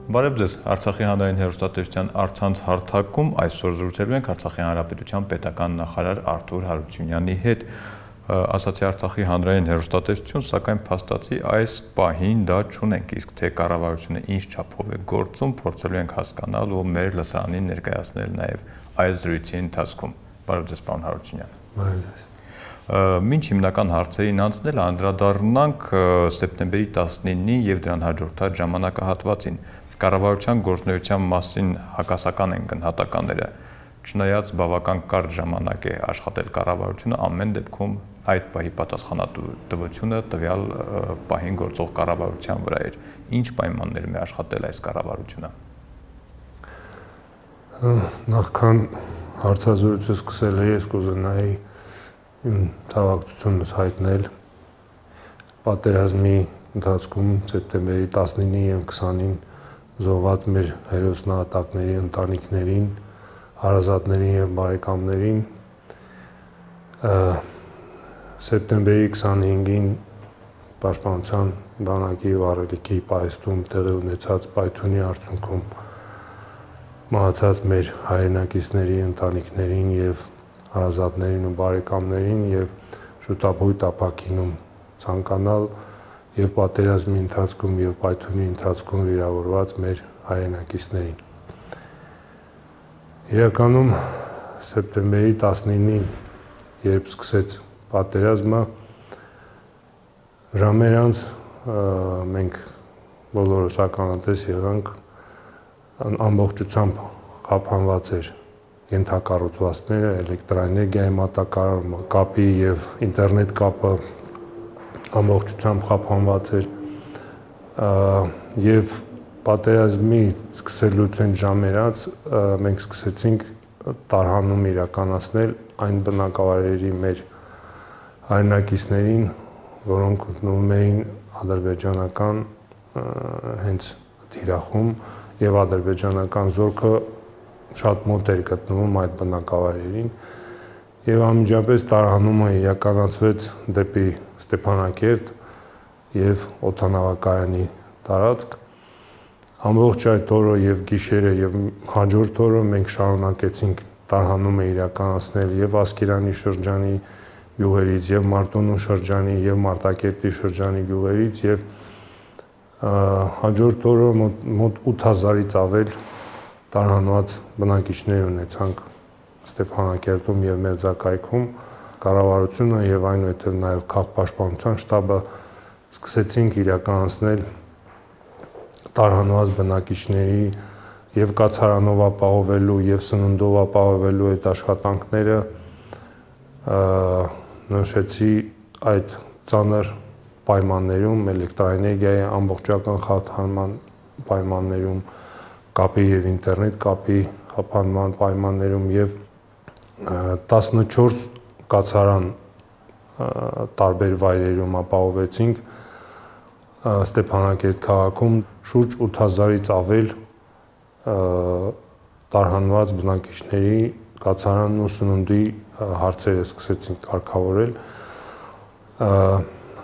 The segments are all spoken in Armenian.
Բարև ձեզ, Արցախի հանրային հեռուստատեսության առցանց հարթակում այսօր զրուցելու ենք Արցախի հանրապետության պետական նախարար Արթուր Հարությունյանի հետ։ Ասացի Արցախի հանրային հեռուստատեսություն, սակայն փաստացի այս պահին դա չունենք, իսկ թե կառավարությունը ինչ չափով է գործում, փորձելու ենք հասկանալ ու մեր լսարանին ներկայացնել նաև այս զրույցի ընթացքում։ Բարև ձեզ, պարոն Հարությունյան։ Բարև ձեզ։ Մինչ հիմնական հարցերին անցնել անդրադառնանք սեպտեմբերի 19-ին եւ դրան հաջորդած ժամանակահատվածին։ Կառավարության գործունեության մասին հակասական են գնահատականները, չնայած բավական կարճ ժամանակ է աշխատել կառավարությունը, ամեն դեպքում այդ պահի պատասխանատվությունը տվյալ պահին գործող կառավարության վրա էր։ Ինչ պայմաններում է աշխատել այս կառավարությունը։ Նախքան հարցազրույցը սկսել ես կուզենայի իմ թավակցությունս հայտնել պատերազմի ընթացքում սեպտեմբերի 19-ի եւ 20-ին զոհված մեր հերոսնահատակների ընտանիքներին, հարազատներին եւ բարեկամներին, սեպտեմբերի 25-ին Պաշտպանության բանակի վարելիքի պայթյուն տեղի ունեցած պայթյունի արդյունքում մահացած մեր հայրենակիցների ընտանիքներին եւ հարազատներին ու բարեկամներին եւ շուտապույտ ապակինում ցանկանալ եւ պատերազմի ընթացքում եւ պայթյունի ընթացքում վիրավորված մեր հայրենակիցներին։ Իրականում սեպտեմբերի 19-ին, երբ սկսեց պատերազմը, ժամեր անց մենք բոլորս ականատես եղանք ամբողջությամբ խափանված էր ենթակառուցվածքները, էլեկտրաէներգիայի մատակարարումը, կապի եւ ինտերնետ կապը ամբողջությամբ խափանված էր եւ պատերազմի սկսելուց այն ժամեր անց մենք սկսեցինք տարհանում իրականացնել այն բնակավայրերի մեր հայրենակիցներին, որոնք գտնվում էին ադրբեջանական հենց թիրախում եւ ադրբեջանական զորքը շատ մոտ էր գտնվում այդ բնակավայրերին եւ անմիջապես տարհանումը իրականացվեց դեպի Ստեփանակերտ եւ օդանավակայանի տարածք։ Ամբողջ այդ օրը եւ գիշերը եւ հաջորդ օրը մենք շարունակեցինք տարհանումը իրականացնել եւ Ասկերանի շրջանի գյուղերից եւ Մարտունու շրջանի եւ Մարտակերտի շրջանի գյուղերից եւ հաջորդ օրը մոտ 8000-ից ավել տարհանված բնակիչներ ունեցանք Ստեփանակերտում եւ Մերձակայքում։ Կառավարությունը եւ այնուհետեւ նաեւ քաղաքապաշտպանության շտաբը սկսեցինք իրականացնել տարհանված բնակիչների եւ կացարանով ապահովելու եւ սննդով ապահովելու այդ աշխատանքները նշեցի այդ ծանր պայմաններում, էլեկտրաէներգիայի ամբողջական խաթարման պայմաններում, կապի եւ ինտերնետ կապի խափանման պայմաններում եւ 14 կացարան տարբեր վայրերում ապահովեցինք Ստեփանակերտ քաղաքում շուրջ 8000-ից ավել տարհանված բնակիչների կացարանն ու սննդի հարցերը սկսեցինք կարգավորել։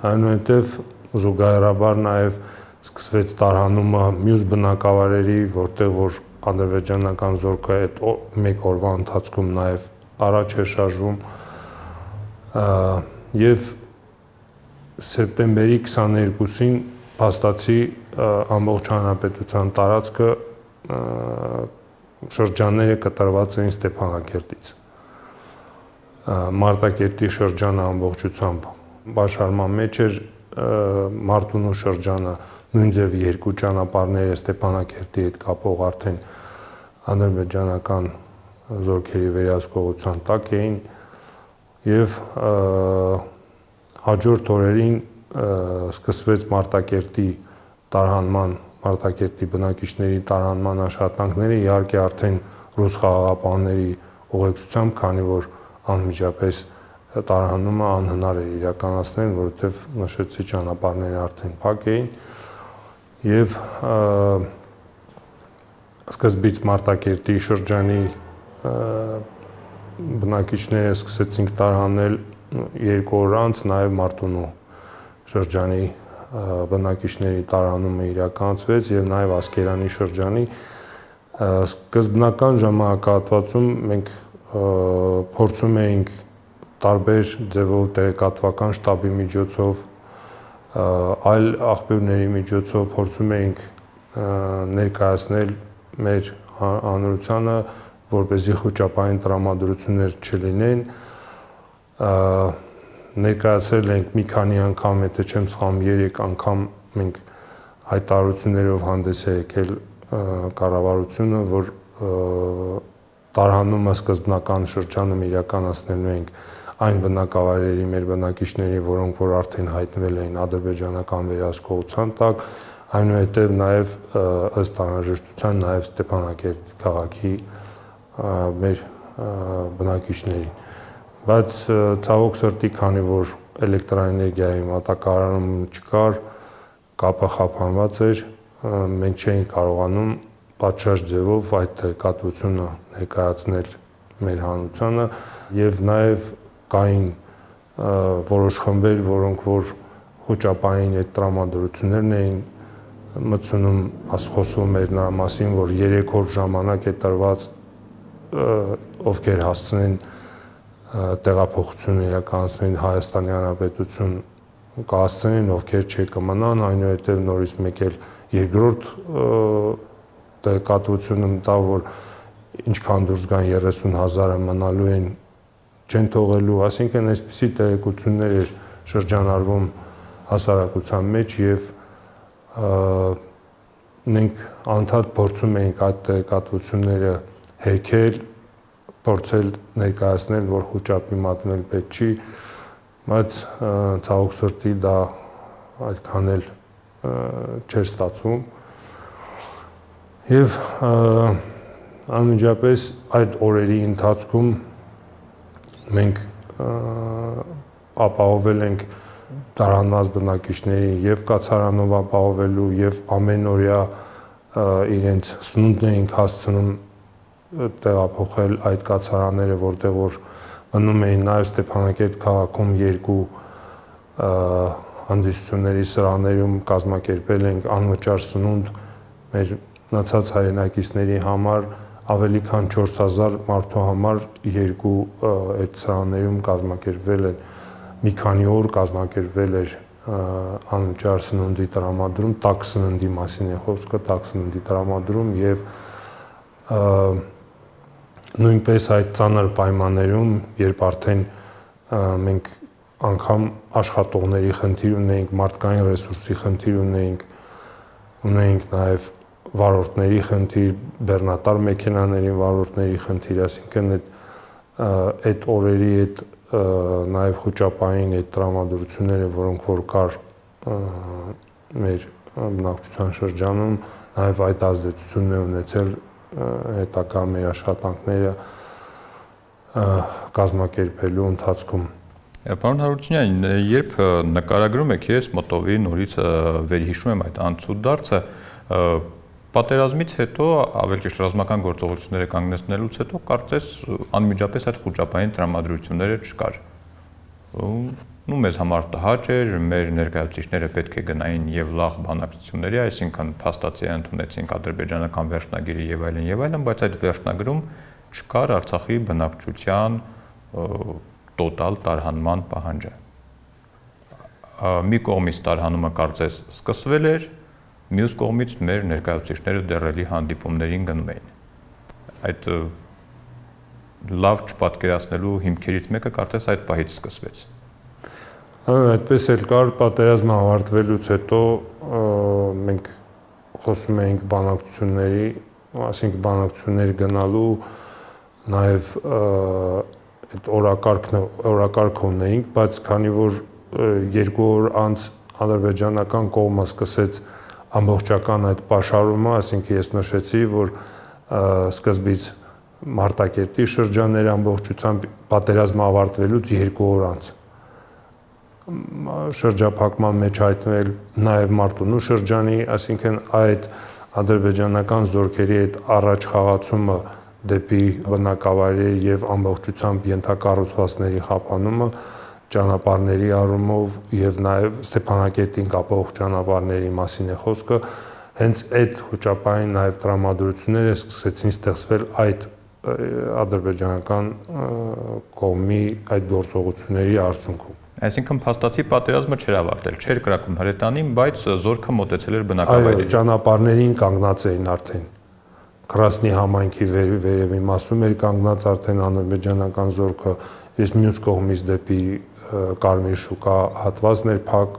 Այնուհետև զուգահեռաբար նաև սկսվեց տարհանումը մյուս բնակավայրերի, որտեղ որ ադրբեջանական զորքը այդ մեկ օրվա ընթացքում նաև առաջ է շարժվում եւ սեպտեմբերի 22-ին փաստացի ամբողջ հանրապետության տարածքը շրջանները կտրված էին Ստեփանակերտից։ Մարտակերտի շրջանը ամբողջությամբ բաշխարման մեջ էր, Մարտունու շրջանը նույնձև երկու ճանապարհները Ստեփանակերտի հետ կապող արդեն ադրբեջանական զորքերի վերահսկողության տակ էին եւ հաջորդ օրերին սկսվեց Մարտակերտի տարհանման, Մարտակերտի բնակիչների տարհանման աշխատանքները, իհարկե արդեն ռուս խաղաղապահների ուղեկցությամբ, քանի որ անմիջապես տարհանումը անհնար էր իրականացնել, որովհետև նշեցի ճանապարհները արդեն փակ էին եւ սկզբից Մարտակերտի շրջանի բնակիչները սկսեցինք տարհանել 2 օր անց նաև Մարտունու շրջանի բնակիչների տարանումը իրականացվեց եւ նաեւ Ասկերանի շրջանի սկզբնական ժամանակահատվածում մենք փորձում էինք տարբեր ձևով տեղեկատվական շտաբի միջոցով այլ աղբյուրների միջոցով փորձում էինք ներկայացնել մեր հանրությանը, որպեսզի խոճապային տրամադրություններ չլինեն, ներկայացրել ենք մի քանի անգամ, եթե չեմ սխալվում, 3 անգամ մենք հայտարարություններով հանդես է եկել կառավարությունը, որ տարհանումը սկզբնական շրջանում իրականացնելու ենք այն բնակավայրերի մեր բնակիչների, որոնք որ արդեն հայտնվել էին ադրբեջանական վերահսկողության տակ, այնուհետև նաև ըստ անհրաժեշտության նաև Ստեփանակերտի քաղաքի մեր բնակիչներին։ Բայց ցավոք սրտի, քանի որ էլեկտրաէներգիայի մատակարարում չկար, կապը խափանված էր, մենք չէինք կարողանում պատշաճ ձևով այդ տեղեկատվությունը ներկայացնել մեր հանրությանը եւ նաեւ կային որոշ խմբեր, որոնք որ խոճապային այդ տրամադրություններն էին մտցնում, խոսում էր նրա մասին, որ 3 օր ժամանակ է տրված, ովքեր հասցնեն տեղափոխություն իրականացնեն Հայաստանի Հանրապետություն կհասցնեն, ովքեր չկմնան, այնուհետև նորից մեկ էլ երկրորդ տեղեկատվությունը մտա, որ ինչքան դուրս գան 30,000-ը մնալու են, չեն թողելու, այսինքն այսպիսի տեղեկություններ էր շրջանառվում հասարակության մեջ եւ մենք անդադ փորձում էինք այդ տեղեկատվությունները հերքել, փորձել ներկայացնել, որ խոճապի մատնել պետք չի, բայց ցավոք սրտի դա այդքան էլ չէր ստացվում։ Եվ անմիջապես այդ օրերի ընթացքում մենք ապահովել ենք տարանված բնակիչների եւ կացարանով ապահովելու եւ ամենօրյա իրենց սնունդն էինք հասցնում տեղափոխել այդ կացարանները, որտեղ որ մնում էին նաեւ Ստեփանակերտ քաղաքում 2 հանդիսությունների սրահներում կազմակերպել ենք անվճար սնունդ մեր մնացած հայրենակիցների համար, ավելի քան 4000 մարդու համար 2 այդ սրահներում կազմակերպվել են մի քանի օր կազմակերպվել էր անվճար սնունդի տրամադրում, տաք սննդի մասին է խոսքը, տաք սննդի տրամադրում եւ նույնպես այդ ծանր պայմաններում, երբ արդեն մենք անգամ աշխատողների խնդիր ունեինք, մարդկային ռեսուրսի խնդիր ունեինք նաև վարորդների խնդիր, բեռնատար մեքենաների վարորդների խնդիր, այսինքն այդ օրերի այդ նաև խոճապային այդ տրամադրությունները, որոնք որ կար մեր բնակչության շրջանում, նաև այդ ազդեցությունն է ունեցել հետագա մեր աշխատանքները կազմակերպելու ընթացքում։ Պարոն Հարությունյան, երբ նկարագրում եք, ես մտովի նորից վերհիշում եմ այդ անցուդարձը, պատերազմից հետո, ավելի ճիշտ ռազմական գործողությունները կանգնեցնելուց հետո կարծես անմիջապես այդ խոճապային տրամադրությունները չկար։ Ու մեզ համար տհաճ էր, մեր ներկայացուցիչները պետք է գնային եւ լավ բանակցությունների, այսինքն փաստացի ընդունեցինք ադրբեջանական վերջնագիրը եւ այլն, բայց այդ վերջնագրում չկար Արցախի բնակչության տոտալ տարհանման պահանջը։ Մի կողմից տարհանումը կարծես սկսվել էր, մյուս կողմից մեր ներկայացուցիչները դեռելի հանդիպումներին գնում էին։ Այդ լավ չպատկերացնելու հիմքերից մեկը կարծես այդ պահից սկսվեց։ Այդպես էլ կար, պատերազմը ավարտվելուց հետո մենք խոսում էինք բանակցությունների, այսինքն բանակցություններ գնալու, նաև այդ օրակարգ ունեինք, բայց քանի որ 2 օր անց ադրբեջանական կողմը սկսեց ամբողջական այդ պաշարումը, այսինքն ես նշեցի, որ սկզբից Մարտակերտի շրջանները ամբողջությամբ պատերազմը ավարտվելուց 2 օր անց շրջափակման մեջ հայտնվել նաև Մարտունու շրջանի, այսինքն այդ ադրբեջանական զորքերի այդ առաջ խաղացումը դեպի բնակավայրեր եւ ամբողջությամբ ենթակառուցվածքների խափանումը ճանապարհների առումով եւ նաեւ Ստեփանակերտին կապող ճանապարհների մասին է խոսքը, հենց այդ խոճապային նաեւ տրամադրությունները սկսեցին ստեղծվել այդ ադրբեջանական կողմի այդ գործողությունների արդյունքում։ Այսինքն փաստացի պատերազմը չէր ավարտել, չէր կրակում հրետանին, բայց զորքը մոտեցել էր բնակավայրերին։ Այո, ճանապարհներին կանգնած էին արդեն։ Կրասնի համայնքի վերևի մասում էր կանգնած արդեն ադրբեջանական զորքը, ես մյուս կողմից դեպի Կարմիր շուկա հատվածն էր փակ,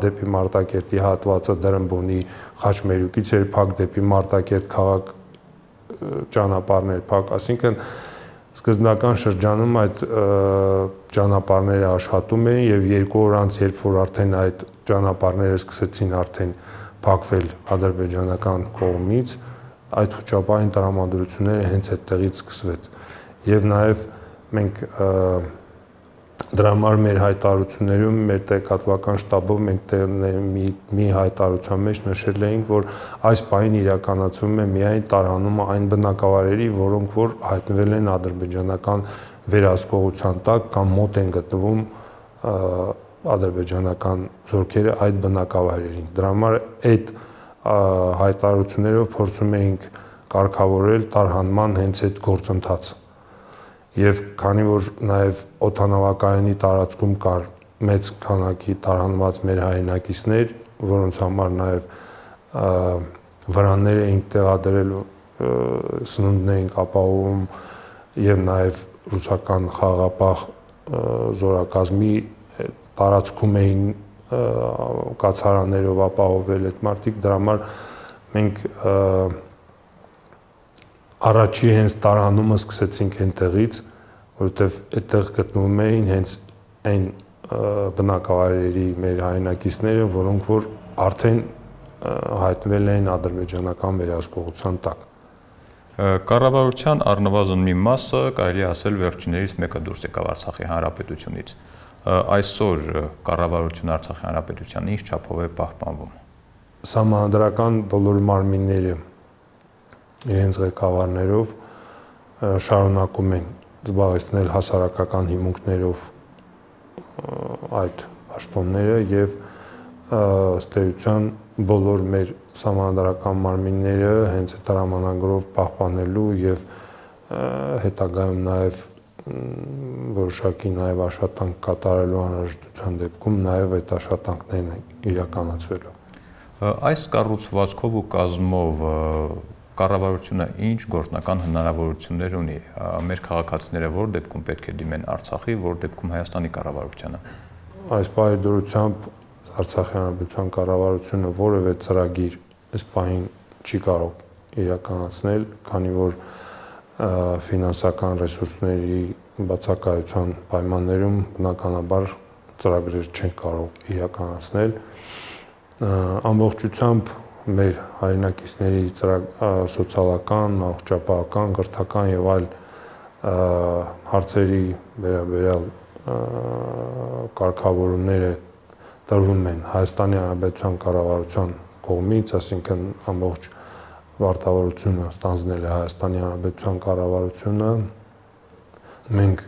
դեպի Մարտակերտի հատվածը Դրմբոնի Խաչմերուկից էր փակ, դեպի Մարտակերտ քաղաք ճանապարհն էր փակ, այսինքն սկզբնական շրջանում այդ ճանապարհները աշխատում էին եւ 2 օր անց, երբ որ արդեն այդ ճանապարհները սկսեցին արդեն փակվել ադրբեջանական կողմից, այդ խոճապային տրամադրությունները հենց այդտեղից սկսվեց։ Եվ նաեւ մենք դրա համար մեր հայտարարություններում, մեր տեղեկատվական շտաբով մենք մի հայտարարության մեջ նշել էինք, որ այս պահին իրականացվում է միայն տարհանումը այն բնակավայրերի, որոնք որ հայտնվել են ադրբեջանական վերահսկողության տակ կամ մոտ են գտնվում ադրբեջանական զորքերը այդ բնակավայրերին։ Դրա համար այդ հայտարարություններով փորձում էինք կարգավորել տարհանման հենց այդ գործընթացը։ Եվ քանի որ նաև օդանավակայանի տարածքում կար մեծ քանակի տարհանված մեր հայրենակիցներ, որոնց համար նաև վրաններ էինք տեղադրել, սնունդն էինք ապահովում եւ նաև ռուսական խաղաղապահ զորակազմի տարածքում էին կացարաններով ապահովել այդ մարդիկ, դրա համար մենք առաջի հենց տարհանումը սկսեցինք այնտեղից, որովհետև այդտեղ գտնվում էին հենց այն բնակավայրերի մեր հայրենակիցները, որոնք որ արդեն հայտնվել էին ադրբեջանական վերահսկողության տակ։ Կառավարության առնվազն մի մասը կարելի ասել վերջիններից մեկը դուրս եկավ Արցախի հանրապետությունից։ Այսօր կառավարությունը Արցախի հանրապետության ինչ չափով է պահպանվում։ Սահմանադրական բոլոր մարմինները իրենց ղեկավարներով շարունակում են զբաղեցնել հասարակական հիմունքներով այդ պաշտոնները եւ ըստ էության բոլոր մեր սահմանադրական մարմինները հենց այդ հրամանագրով պահպանելու եւ հետագայում նաեւ որոշակի նաեւ աշխատանք կատարելու անհրաժեշտության դեպքում նաեւ այդ աշխատանքներն են իրականացվելու։ Այս կառուցվածքով ու կազմով կառավարությունը ինչ գործնական հնարավորություններ ունի։ Մեր քաղաքացիները որ դեպքում պետք է դիմեն Արցախի, որ դեպքում Հայաստանի կառավարությանը։ Այս պահի դրությամբ Արցախի հանրապետության կառավարությունը որևէ ծրագիր այս պահին չի կարող իրականացնել, քանի որ ֆինանսական ռեսուրսների բացակայության պայմաններում բնականաբար ծրագրեր չեն կարող իրականացնել։ Ամբողջությամբ մեր հայրենակիցների սոցիալական, առողջապահական, կրթական եւ այլ հարցերի վերաբերյալ կարգավորումները տրվում են Հայաստանի Հանրապետության կառավարության կողմից, այսինքն ամբողջ վարտավորությունը ստանձնել է Հայաստանի Հանրապետության կառավարությունը։ Մենք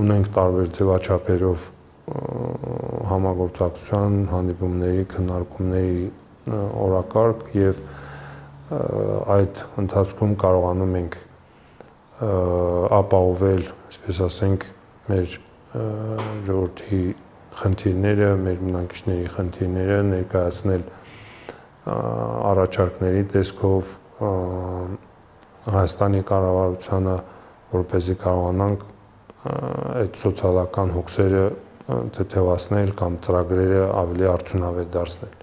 ունենք տարբեր ձևաչափերով համագործակցության, հանդիպումների, քննարկումների օրակարգ եւ այդ ընթացքում կարողանում ենք ապահովել, այսպես ասենք, մեր ժողովրդի խնդիրները, մեր բնակիչների խնդիրները ներկայացնել առաջարկների տեսքով Հայաստանի կառավարությանը, որպեսզի կարողանանք այդ սոցիալական հոգսերը թեթևացնել կամ ծրագրերը ավելի արդյունավետ դարձնել։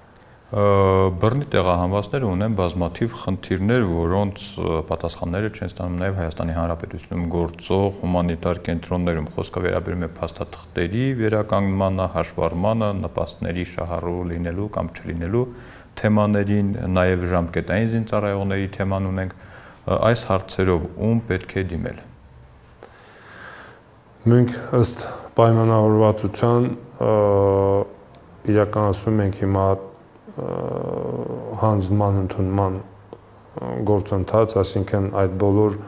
Բռնի տեղահանվածները ունեն բազմաթիվ խնդիրներ, որոնց պատասխանները չեն ստանում նաև Հայաստանի Հանրապետությունում գործող հումանիտար կենտրոններում։ Խոսքը վերաբերում է փաստաթղթերի վերականգնմանը, հաշվառմանը, նպաստների շահառու լինելու կամ չլինելու թեմաներին, նաև ժամկետային զինծառայողների թեման ունենք։ Այս հարցերով ում պետք է դիմել։ Մենք ըստ պայմանավորվածության իրականացնում ենք հիմա հանձնման ընդունման գործընթաց, այսինքն այդ բոլոր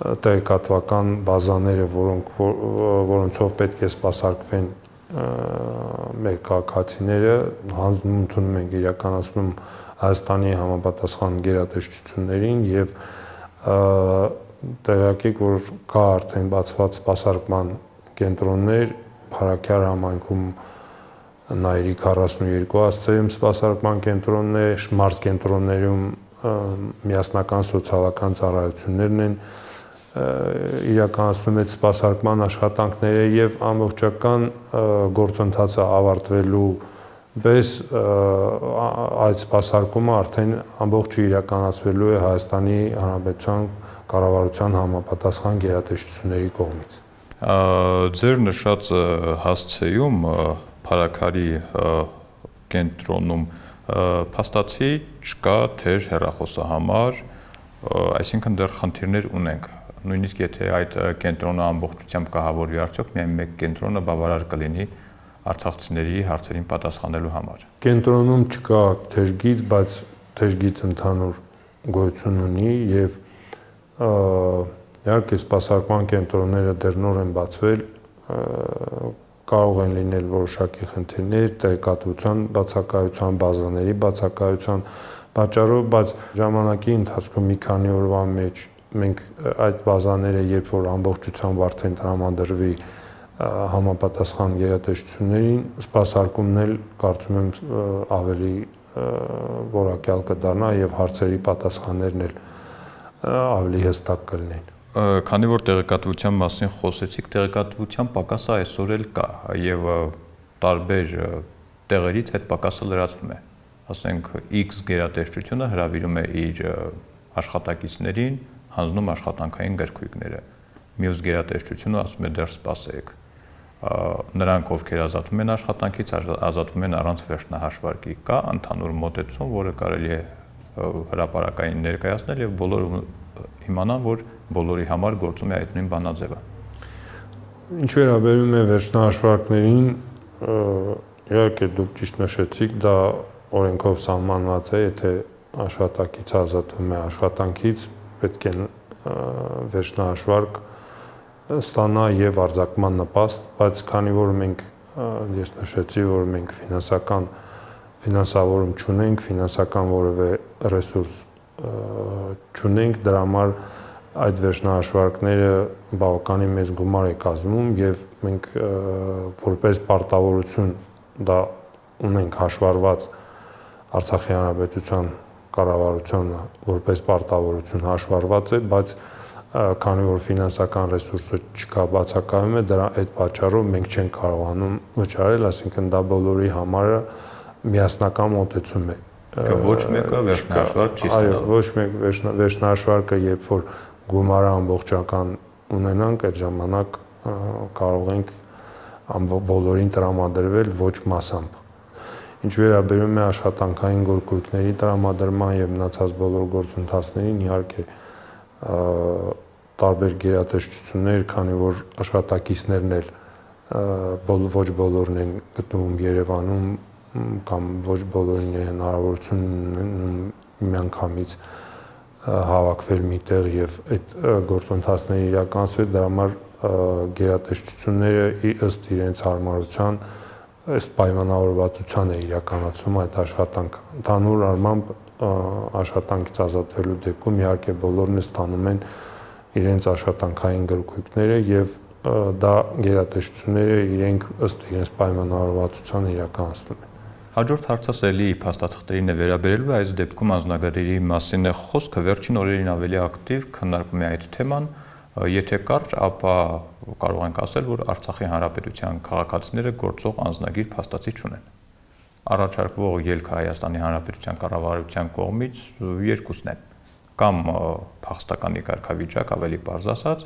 տեղեկատվական բազաները, որոնցով պետք է սպասարկվեն մեր քաղաքացիները, հանձնում ընդունում ենք իրականացնում Հայաստանի համապատասխան գերատեսչություններին եւ տեղյակեք, որ կա արդեն բացված սպասարկման կենտրոններ Փարաքյար համայնքում Նայիրի 42 աստղերում սպասարկման կենտրոնն է, Շմարց կենտրոններում միասնական սոցիալական ծառայություններն են իրականացնում այդ սպասարկման աշխատանքները եւ ամբողջական գործընթացը ավարտվելու պես այդ սպասարկումը արդեն ամբողջը իրականացվելու է Հայաստանի Հանրապետության կառավարության համապատասխան գերատեսչությունների կողմից։ Ձեր նշած հասցեում Փարաքարի կենտրոնում փաստացի չկա թեր հեռախոսահամար, այսինքն դեռ խնդիրներ ունենք։ Նույնիսկ եթե այդ կենտրոնը ամբողջությամբ կահավորվի, արդյոք միայն մեկ կենտրոնը բավարար կլինի արցախցիների հարցերին պատասխանելու համար։ Կենտրոնում չկա թեժգիծ, բայց թեժգիծ ընդհանուր գոյություն ունի եւ իհարկե սպասարկման կենտրոնները դեռ նոր են բացվել, կարող են լինել որոշակի խնդիրներ տեղեկատվության բացակայության, բազաների բացակայության պատճառով, բայց ժամանակի ընթացքում մի քանի օրվա մեջ մենք այդ բազաները, երբ որ ամբողջությամբ արդեն տրամադրվի համապատասխան գերատեսչություններին, սպասարկումն էլ կարծում եմ ավելի որակյալ կդառնա եւ հարցերի պատասխաններն էլ ավելի հստակ կլինեն։ Քանի որ տեղեկատվության մասին խոսեցիք, տեղեկատվության պակասը այսօր էլ կա եւ տարբեր տեղերից այդ պակասը լրացվում է։ Ասենք X գերատեսչությունը հրավիրում է իր աշխատակիցներին, հանձնում աշխատանքային գրքույկները։ Մյուս գերատեսչությունը ասում է դեռ սպասեք։ Նրանք, ովքեր ազատվում են աշխատանքից, ազատվում են առանց վերջնահաշվարկի։ Կա ընդհանուր մոտեցում, որը կարելի է հրապարակային ներկայացնել եւ բոլորը իմանան, որ բոլորի համար գործում է այդ նույն բանաձևը։ Ինչ վերաբերում է վերջնահաշվարկներին, իհարկե դուք ճիշտ նշեցիք, դա օրենքով սահմանված է, եթե աշխատակիցը ազատվում է աշխատանքից, պետք է վերջնահաշվարկ ստանա եւ արձակման նպաստ, բայց քանի որ մենք ես նշեցի, որ մենք ֆինանսավորում չունենք, ֆինանսական որևէ ռեսուրս չունենք, դրա համար այդ վերջնահաշվարկները բավականին մեծ գումար է կազմում եւ մենք որպես պարտավորություն դա ունենք հաշվառված Արցախի Հանրապետության կառավարությանը որպես պարտավորություն հաշվառված է, բայց քանի որ ֆինանսական ռեսուրսը չկա, բացակայում է, դրա այդ պատճառով մենք չենք կարողանում վճարել, այսինքն դա բոլորի համար միասնական մոտեցում է։ Ոչ մեկը վերջնահաշվարկ չի ստանալու։ Այո, ոչ մեկ վերջնահաշվարկը, երբ որ գումարը ամբողջական ունենանք, այդ ժամանակ կարող ենք բոլորին տրամադրվել ոչ մասամբ։ Ինչ վերաբերում է աշխատանքային գործընթացների տրամադրման եւ մնացած բոլոր գործընթացներին, իհարկե տարբեր գերատեսչություններ, քանի որ աշխատակիցներն էլ ոչ բոլորն են գտնվում Երևանում կամ ոչ բոլորին է հնարավորություն միանգամից հավաքվել միտեղ եւ այդ գործընթացները իրականացվել, դրա համար գերատեսչությունները ըստ իրենց հարմարության ըստ պայմանավորվածության է իրականացում այդ աշխատանքը։ Ընդհանուր առմամբ աշխատանքից ազատվելու դեպքում իհարկե բոլորն ստանում են իրենց աշխատանքային գրքույկները եւ դա գերատեսչությունները իրենք ըստ իրենց պայմանավորվածության իրականացնում են։ Հաջորդ հարցս էլի փաստաթղթերին է վերաբերելու, այս դեպքում անձնագրերի մասին է խոսքը, վերջին օրերին ավելի ակտիվ քննարկվում է այդ թեման, եթե կարճ, ապա կարող ենք ասել, որ Արցախի Հանրապետության քաղաքացիները գործող անձնագիր փաստացի չունեն։ Առաջարկվող ելքը Հայաստանի Հանրապետության կառավարության կողմից երկուսն են, կամ փախստականի կարգավիճակ, ավելի պարզ ասած,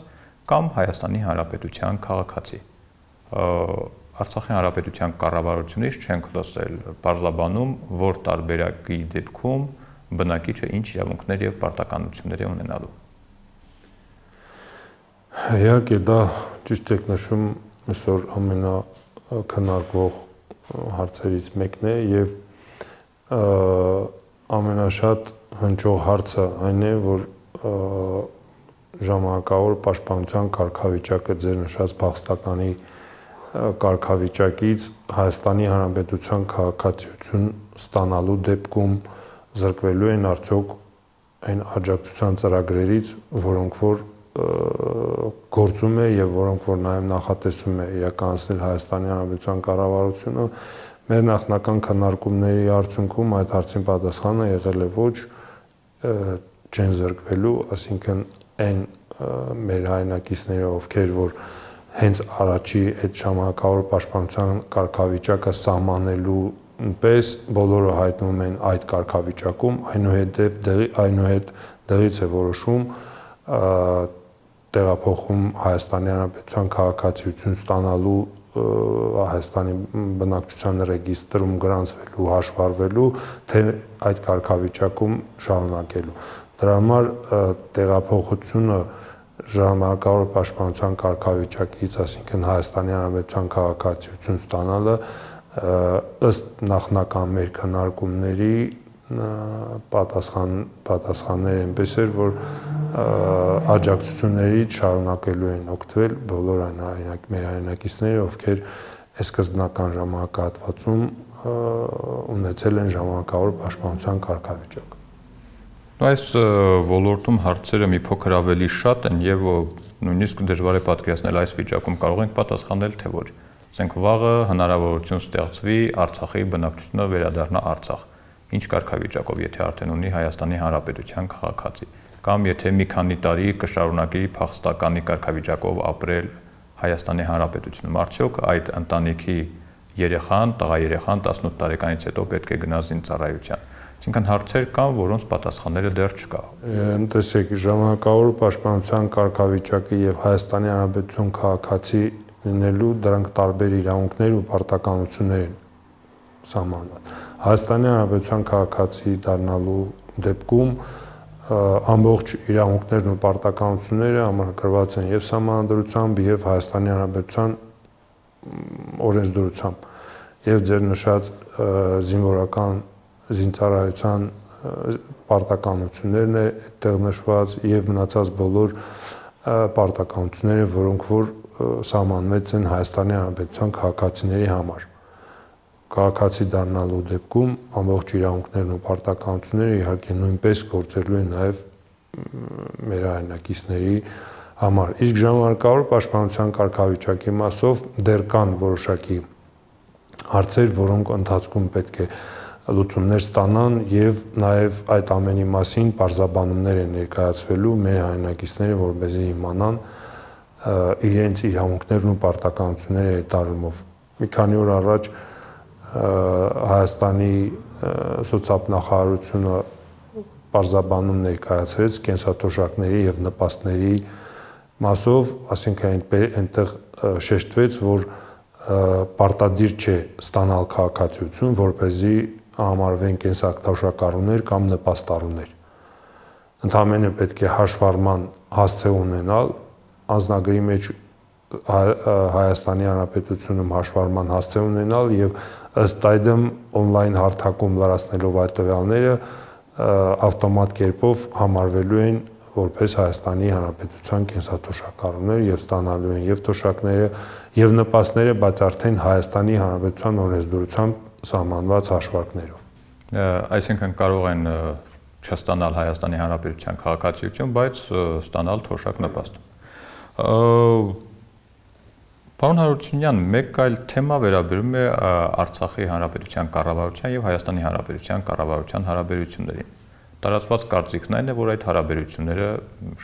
կամ Հայաստանի Հանրապետության քաղաքացի։ Արցախի Հանրապետության կառավարությունից չենք լսել պարզաբանում, որ տարբերակի դեպքում բնակիչը ինչ իրավունքներ եւ պարտականություններ է ունենալու։ Իհարկե դա ճիշտ եք նշում, այսօր ամենակննարկվող հարցերից մեկն է եւ ամենաշատ հնչող հարցը այն է, որ ժամանակավոր պաշտպանության կարգավիճակը ձեր նշած փախստականի կարգավիճակից Հայաստանի Հանրապետության քաղաքացիություն ստանալու դեպքում զրկվելու են արդյոք այն աջակցության ծրագրերից, որոնք որ գործում է եւ որոնք որ նաեւ նախատեսում է իրականացնել Հայաստանի Հանրապետության կառավարությունը, մեր նախնական քննարկումների արդյունքում այդ հարցին պատասխանը եղել է ոչ, չեն զրկվելու, ասինքն այն մեր հայրենակիցները, ովքեր որ հենց առաջի այդ ժամանակավոր պաշտպանության կարգավիճակը սահմանելու պես բոլորը հայտնվում են այդ կարգավիճակում, այնուհետ դեղից է որոշում տեղափոխում Հայաստանի Հանրապետության քաղաքացիություն ստանալու Հայաստանի բնակչության ռեգիստրում գրանցվելու, հաշվառվելու, թե այդ կարգավիճակում շարունակելու։ Դրա համար տեղափոխությունը ժամանակավոր պաշտպանության կարգավիճակից, ասինքն Հայաստանի Հանրապետության քաղաքացիություն ստանալը ըստ նախնական մեր քննարկումների պատասխանները այնպես էր, որ աջակցություններից շարունակելու են օգտվել բոլոր մեր հայրենակիցները, ովքեր սկզբնական ժամանակահատվածում ունեցել են ժամանակավոր պաշտպանության կարգավիճակ։ Այս ոլորտում հարցերը մի փոքր ավելի շատ են եւ նույնիսկ դժվար է պատկերացնել այս վիճակում կարող ենք պատասխանել թե ոչ։ Ասենք վաղը հնարավորություն ստեղծվի Արցախի բնակչությունը վերադառնա Արցախ։ Ինչ կարգավիճակով, եթե արդեն ունի Հայաստանի Հանրապետության քաղաքացի, կամ եթե մի քանի տարի կշարունակի փախստականի կարգավիճակով ապրել Հայաստանի Հանրապետությունում, արդյոք այդ ընտանիքի երեխան, տղա երեխան 18 տարեկանից հետո պետք է գնա զինծառայության։ Այսինքն հարցեր կան, որոնց պատասխանները դեռ չկա։ Տեսեք, ժամանակավոր պաշտպանության կարգավիճակը եւ Հայաստանի Հանրապետություն քաղաքացի լինելու դրանք տարբեր իրավունքներ ու պարտականություններ են սահմանված։ Հայաստանի Հանրապետության քաղաքացի դառնալու դեպքում ամբողջ իրավունքներն ու պարտականությունները համակարգված են եւ սահմանադրությամբ եւ Հայաստանի Հանրապետության օրենսդրությամբ եւ ձեր նշած զինվորական զինծառայության պարտականություններն է այդտեղ նշված եւ մնացած բոլոր պարտականությունները, որոնք որ սահմանված են Հայաստանի Հանրապետության քաղաքացիների համար։ Քաղաքացի դառնալու դեպքում ամբողջ իրավունքներն ու պարտականությունները իհարկե նույնպես գործելու են նաեւ մեր հայրենակիցների համար։ Իսկ ժամանակավոր պաշտպանության կարգավիճակի մասով դեռ կան որոշակի հարցեր, որոնք ընթացքում պետք է լուծումներ ստանան եւ նաեւ այդ ամենի մասին բարձաբանումներ են ներկայացվելու մեր հայրենակիցները, որպեսզի իմանան իրենց իրավունքներն ու պարտականությունները հետառումով։ Մի քանի օր առաջ Հայաստանի սոցիալնախարարությունը բարձաբանում ներկայացրեց կենսաթոշակների եւ նպաստների մասով, ասինքն այնտեղ շեշտվեց, որ պարտադիր չէ ստանալ քաղաքացիություն, որպեսզի համարվեն կենսաթոշակառուներ կամ նպաստառուներ։ Ընդհանրապես պետք է հաշվառման հասցե ունենալ, անձնագրի մեջ Հայաստանի Հանրապետությունում հաշվառման հասցե ունենալ եւ ըստ այդմ on-line հարթակում լրացնելով այդ տվյալները ավտոմատ կերպով համարվելու են որպես Հայաստանի Հանրապետության կենսաթոշակառուներ եւ ստանալու են եւ թոշակները եւ նպաստները, բայց արդեն Հայաստանի Հանրապետության օրենսդրությամբ սահմանված հաշվարկներով։ Այսինքն կարող են չստանալ Հայաստանի Հանրապետության քաղաքացիություն, բայց ստանալ թոշակ նպաստ։ Պարոն Հարությունյան, մեկ այլ թեմա վերաբերում է Արցախի Հանրապետության կառավարության եւ Հայաստանի Հանրապետության կառավարության հարաբերություններին։ Տարածված կարծիքն այն է, որ այդ հարաբերությունները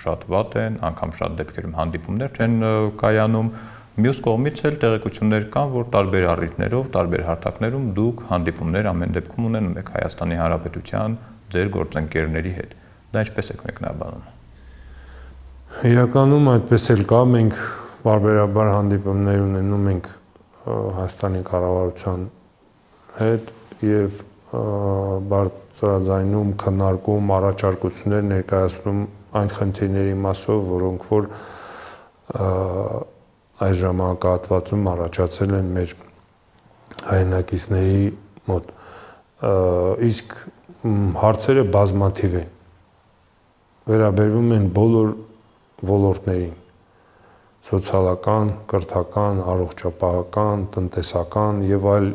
շատ վատ են, անգամ շատ դեպքերում հանդիպումներ չեն կայանում։ Մյուս կողմից էլ տեղեկություններ կան, որ տարբեր առիթներով, տարբեր հարթակներում դուք հանդիպումներ ամեն դեպքում ունենում եք Հայաստանի Հանրապետության ձեր գործընկերների հետ։ Դա ինչպես եք մեկնաբանում։ Իրականում այդպես էլ կա, մենք բարբերաբար հանդիպումներ ունենում ենք Հայաստանի կառավարության հետ եւ բարձրաձայնում, քննարկում, առաջարկություններ ներկայացնում այն խնդիրների մասով, որոնք որ այս ժամանակահատվածում առաջացել են մեր հայրենակիցների մոտ։ Իսկ հարցերը բազմաթիվ են։ Վերաբերվում են բոլոր ոլորտներին՝ սոցիալական, կրթական, առողջապահական, տնտեսական եւ այլ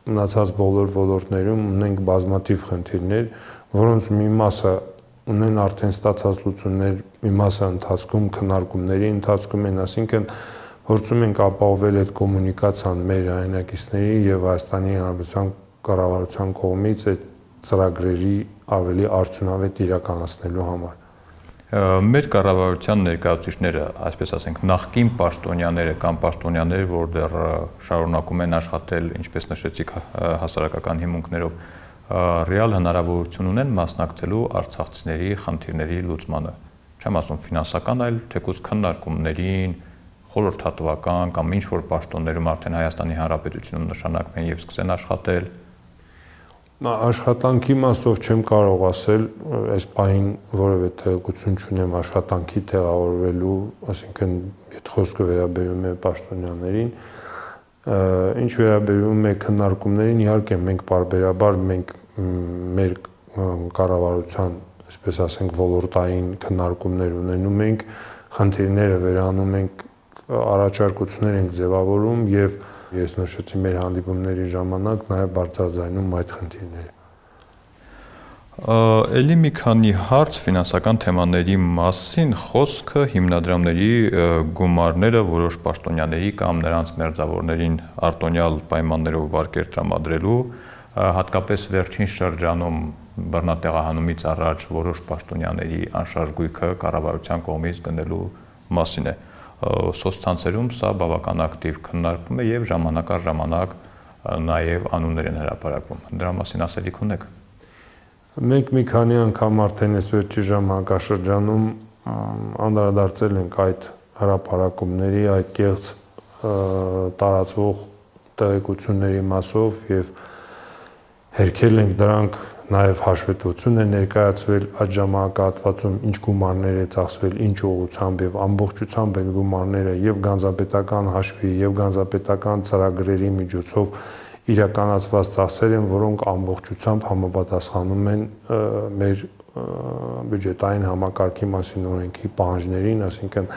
մնացած բոլոր ոլորտներում ունենք բազմաթիվ խնդիրներ, որոնց մի մասը ունեն արդեն ստացած լուծումներ, մի մասը ընթացքում քննարկումների ընթացքում են, այսինքն փորձում ենք ապահովել այդ կոմունիկացիան մեր հայրենակիցների եւ Հայաստանի Հանրապետության կառավարության կողմից այդ ծրագրերի ավելի արդյունավետ իրականացնելու համար։ Մեր կառավարության ներկայացուցիչները, այսպես ասենք, նախկին պաշտոնյաները կամ պաշտոնյաները, որ դեռ շարունակում են աշխատել, ինչպես նշեցիք, հասարակական հիմունքներով, ռեալ հնարավորություն ունեն մասնակցելու արցախցիների խնդիրների լուծմանը։ Չեմ ասում ֆինանսական, այլ թեկուզ քննարկումներին, խորհրդատվական կամ ինչ-որ պաշտոններում արդեն Հայաստանի Հանրապետությունում նշանակվեն եւ սկսեն աշխատել։ Աշխատանքի մասով չեմ կարող ասել, այս պահին որևէ տեղեկություն չունեմ աշխատանքի տեղավորվելու, այսինքն այդ խոսքը վերաբերում է պաշտոնյաներին, ինչ վերաբերում է քննարկումներին, իհարկե մենք պարբերաբար մեր կառավարության, այսպես ասենք, ոլորտային քննարկումներ ունենում ենք, խնդիրները վերանում ենք, առաջարկություններ ենք ձևավորում եւ ես նշեցի մեր հանդիպումների ժամանակ նաև բարձրաձայնում այդ խնդիրները։ Էլի մի քանի հարց ֆինանսական թեմաների մասին, խոսքը հիմնադրամների գումարները որոշ պաշտոնյաների կամ նրանց մերձավորներին արտոնյալ պայմաններով վարկեր տրամադրելու, հատկապես վերջին շրջանում բռնատեղահանումից առաջ որոշ պաշտոնյաների անշարժ գույքը կառավարության կողմից գնելու մասին է։ Սոցցանցերում սա բավական ակտիվ քննարկվում է եւ ժամանակ առ ժամանակ նաեւ անուններ են հրապարակվում։ Դրա մասին ասելիք ունեք։ Մենք մի քանի անգամ արդեն այս վերջի ժամանակաշրջանում անդրադարձել ենք այդ հրապարակումների, այդ կեղծ տարածվող տեղեկությունների մասով եւ հերքել ենք դրանք, նաև հաշվետվություն է ներկայացվել այդ ժամանակահատվածում ինչ գումարներ է ծախսվել, ինչ ուղղությամբ եւ ամբողջությամբ այդ գումարները եւ գանձապետական հաշվի եւ գանձապետական ծրագրերի միջոցով իրականացված ծախսեր են, որոնք ամբողջությամբ համապատասխանում են մեր բյուջետային համակարգի մասին օրենքի պահանջներին, այսինքն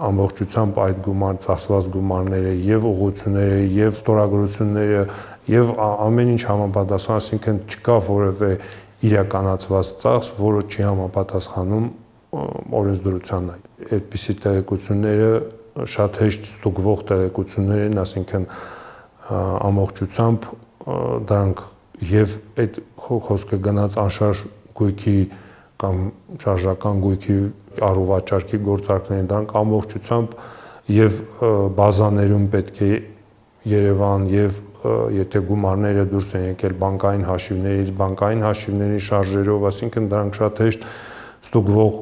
ամբողջությամբ այդ ծախսված գումարները եւ ուղղությունները եւ ստորագրությունները եւ ամեն ինչ համապատասխան, այսինքն չկա որևէ իրականացված ծախս, որը չի համապատասխանում օրենսդրությանը։ Այդպիսի տեղեկությունները շատ հեշտ ստուգվող տեղեկություններ են, այսինքն ամբողջությամբ դրանք եւ այդ խոսքը գնաց անշարժ գույքի կամ շարժական գույքի առուվաճառքի գործարքներին, դրանք ամբողջությամբ եւ բազաներում պետք է Երևան եւ եթե գումարները դուրս են եկել բանկային հաշիվներից, բանկային հաշիվների շարժերով, այսինքն դրանք շատ հեշտ ստուգվող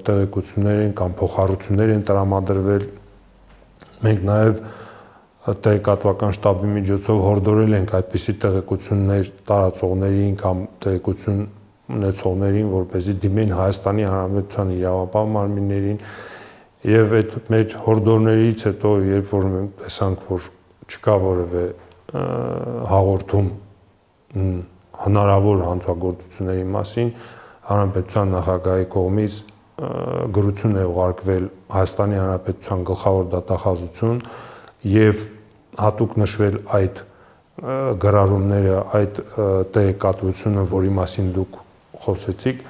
տեղեկություններ են կամ փոխառություններ են տրամադրվել։ Մենք նաեւ տեղեկատվական շտաբի միջոցով հորդորել ենք այդպիսի տեղեկություններ տարածողներին կամ տեղեկություն ունեցողներին, որպեսզի դիմեն Հայաստանի Հանրապետության իրավապահ մարմիններին եւ այդ մեր հորդորներից հետո, երբ որ մենք տեսանք, որ չկա որևէ հաղորդում հնարավոր հանցագործությունների մասին, Հանրապետության նախագահի կողմից գրություն է ուղարկվել Հայաստանի Հանրապետության գլխավոր դատախազություն եւ հատուկ նշվել այդ գրառումները, այդ տեղեկատվությունը, որի մասին դուք խոսեցիք,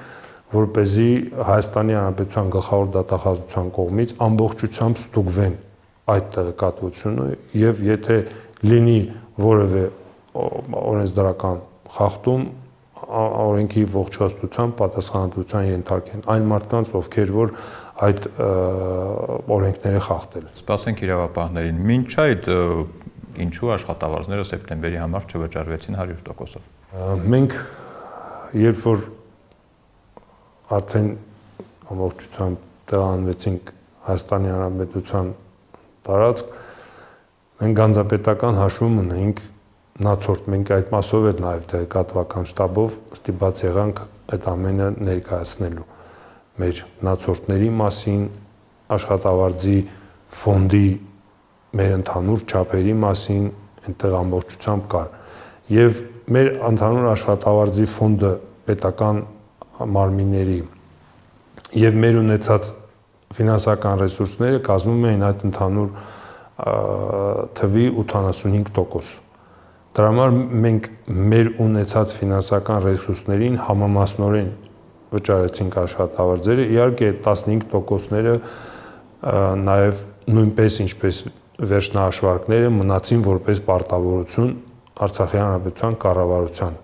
որպեսզի Հայաստանի Հանրապետության գլխավոր դատախազության կողմից ամբողջությամբ ստուգվեն այդ տեղեկատվությունը եւ եթե լինի որևէ օրենսդրական խախտում, օրենքի ողջաստության պատասխանատվության ենթարկեն այն մարդկանց, ովքեր որ այդ օրենքները խախտել են։ Սպասենք իրավապահներին։ Մինչ այդ ինչու աշխատավարձները սեպտեմբերի համար չվճարվեցին 100%-ով։ Մենք երբ որ արդեն ամբողջությամբ տեղանվեցինք Հայաստանի Հանրապետության տարածք, մենք գանձապետական հաշվում ունենք նացորդ, մենք այդ մասով էլ նաև տեղեկատվական շտաբով ստիպված եղանք այդ ամենը ներկայացնելու մեր նացորդների մասին, աշխատավարձի ֆոնդի մեր ընդհանուր չափերի մասին, այնտեղ ամբողջությամբ կար։ Եվ մեր ընդհանուր աշխատավարձի ֆոնդը պետական մարմինների եւ մեր ունեցած ֆինանսական ռեսուրսները կազմում էին այդ ընդհանուր թվի 85%։ Դրա համար մենք մեր ունեցած ֆինանսական ռեսուրսներին համամասնորեն վճարեցինք աշխատավարձերը, իհարկե 15%-ները նաև նույնպես ինչպես վերջնահաշվարկները մնացին որպես պարտավորություն Արցախի Հանրապետության կառավարության։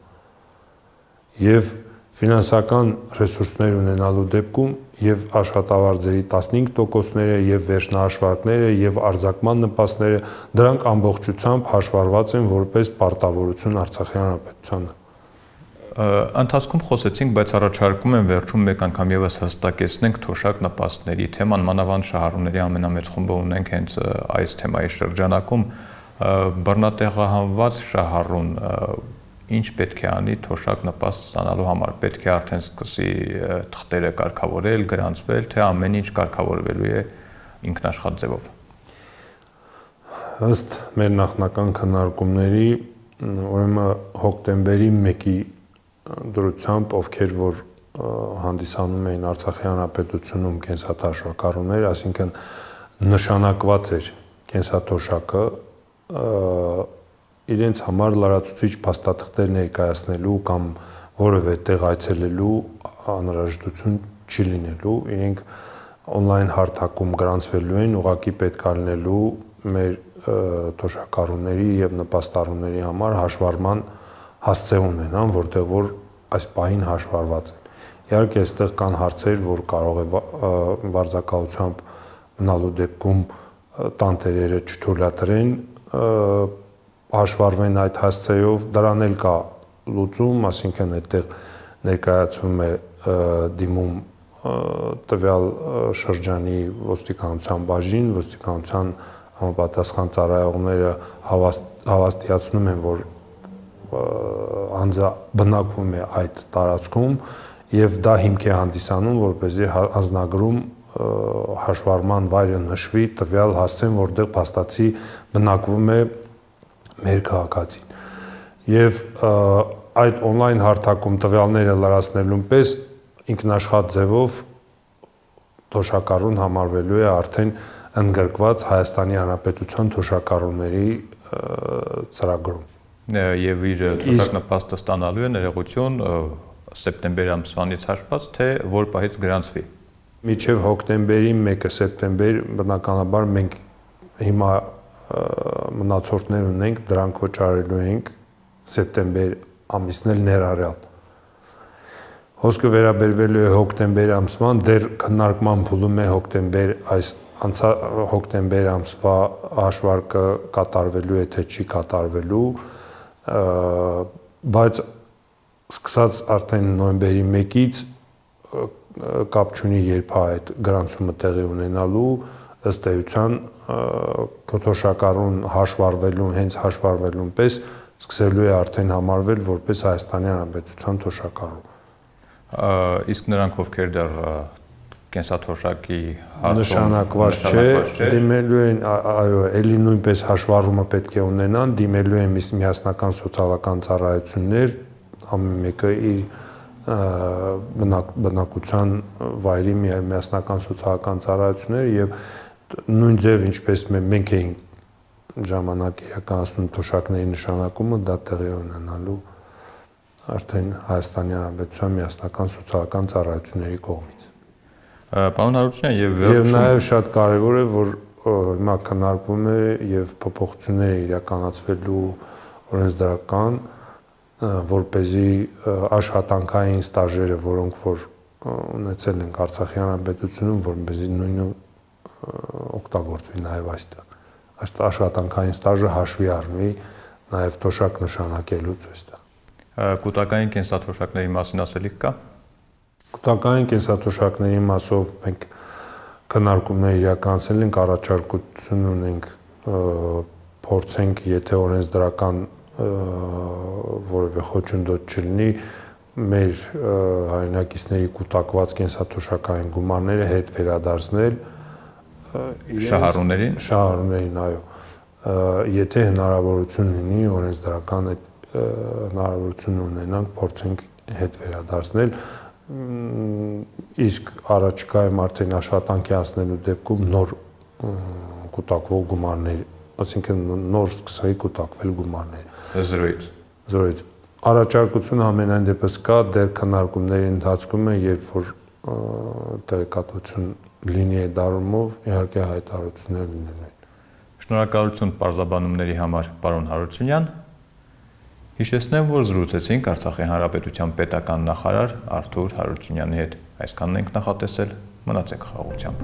Եվ ֆինանսական ռեսուրսներ ունենալու դեպքում եւ աշխատավարձերի 15%-ները եւ վերջնահաշվարկները եւ արձակման նպաստները դրանք ամբողջությամբ հաշվառված են որպես պարտավորություն Արցախի Հանրապետությանը։ Ընթացքում խոսեցինք, բայց առաջարկում եմ վերջում մեկ անգամ եւս հստակեցնենք թոշակ նպաստների թեման, մանավանդ շահառուների ամենամեծ խումբը ունենք հենց այս թեմայի շրջանակում, բռնատեղահանված շահառուն ինչ պետք է անի թոշակ նպաստ ստանալու համար, պետք է արդեն սկսի թղթերը կարգավորել, գրանցվել, թե ամեն ինչ կարգավորվելու է ինքնաշխատ ձևով։ Ըստ մեր նախնական քննարկումների, ուրեմն հոկտեմբերի 1-ի դրությամբ, ովքեր որ հանդիսանում էին Արցախի Հանրապետությունում կենսաթոշակառուներ, այսինքն նշանակված էր կենսաթոշակը, իրենց համար լրացուցիչ փաստաթղթեր ներկայացնելու կամ որևէ տեղ այցելելու անհրաժեշտություն չի լինելու, իրենք on-line հարթակում գրանցվելու են, ուղղակի պետք է լինելու մեր թոշակառուների եւ նպաստառուների համար հաշվառման հասցե ունենան, որտեղ որ այս պահին հաշվառված են։ Իհարկե, այստեղ կան հարցեր, որ կարող է վարձակալությամբ մնալու դեպքում տանտերերը չթույլատրեն հաշվառվեն այդ հասցեով, դրան էլ կա լուծում, այսինքն այդտեղ ներկայացվում է դիմում տվյալ շրջանի ոստիկանության բաժին, ոստիկանության համապատասխան ծառայողները հավաստիացնում են, որ անձը բնակվում է այդ տարածքում եւ դա հիմք է հանդիսանում, որպեսզի անձնագրում հաշվառման վայրը նշվի տվյալ հասցեն, որտեղ փաստացի բնակվում է մեր քաղաքացին։ Եվ այդ on-line հարթակում տվյալները լրացնելուն պես ինքնաշխատ ձևով թոշակառուն համարվելու է արդեն ընդգրկված Հայաստանի Հանրապետության թոշակառուների ծրագրում։ Եվ իր թոշակ նպաստը ստանալու է ներողություն սեպտեմբերի ամսվանից հաշված, թե որ պահից գրանցվի։ Մինչև հոկտեմբերի 1-ը սեպտեմբեր բնականաբար մենք հիմա մնացորդներ ունենք, դրանք վճարելու ենք սեպտեմբեր ամիսն էլ ներառյալ։ Խոսքը վերաբերվելու է հոկտեմբեր ամսվան, դեռ քննարկման փուլում է հոկտեմբեր ամսվա հաշվարկը կատարվելու է, թե չի կատարվելու, բայց սկսած արդեն նոյեմբերի 1-ից կապ չունի երբ է այդ գրանցումը տեղի ունենալու, ըստ էության թոշակառուն հաշվառվելու, հենց հաշվառվելուն պես սկսելու է արդեն համարվել որպես Հայաստանի Հանրապետության թոշակառու։ Իսկ նրանք ովքեր դեռ կենսաթոշակի նշանակված չէ, դիմելու են, այո, էլի նույնպես հաշվառումը պետք է ունենան, դիմելու են միասնական սոցիալական ծառայություններ, ամեն մեկը իր բնակության վայրի միասնական սոցիալական ծառայություններ եւ նույն ձև ինչպես մենք էինք ժամանակ իրականացնում թոշակների նշանակումը, դա տեղի ունենալու արդեն Հայաստանի Հանրապետության միասնական սոցիալական ծառայությունների կողմից։ Պարոն Հարությունյան, եւ նաեւ շատ կարեւոր է, որ հիմա քննարկվում է եւ փոփոխություններ է իրականացվելու օրենսդրական, որպեսզի աշխատանքային ստաժերը, որոնք որ ունեցել ենք Արցախի Հանրապետությունում, որպեսզի նույնը օգտագործվի նաեւ այստեղ։ Այդ աշխատանքային ստաժը հաշվի առնվի նաեւ թոշակ նշանակելուց այստեղ։ Կൂട്ടակային կենսաթոշակների մասին ասելիք կա։ Կൂട്ടակային կենսաթոշակների մասով մենք քննարկումներ իրականացել ենք, առաջարկություն ունենք փորձենք, եթե օրենսդրական որևէ խոչընդոտ չլինի, մեր հայրենակիցների կൂട്ടակված կենսաթոշակային գումարները հետ վերադարձնել շահառուներին, այո, եթե հնարավորություն լինի օրենսդրական այդ հնարավորություն ունենանք, փորձենք հետ վերադարձնել, իսկ առաջիկայում արդեն աշխատանքի հասնելու դեպքում նոր կուտակվող գումարներ, այսինքն նոր սկսեի կուտակվել գումարներ։ Զրոյից։ Առաջարկությունը ամենայն դեպս կա, դեռ քննարկումների ընթացքում է, երբ որ տեղեկատվություն լինի այդ առումով, իհարկե հայտարարություններ լինելու են։ Շնորհակալություն պարզաբանումների համար, պարոն Հարությունյան։ Հիշեցնեմ, որ զրուցեցինք Արցախի Հանրապետության պետական նախարար Արթուր Հարությունյանի հետ։ Այսքանն ենք նախատեսել, մնացեք խաղաղությամբ։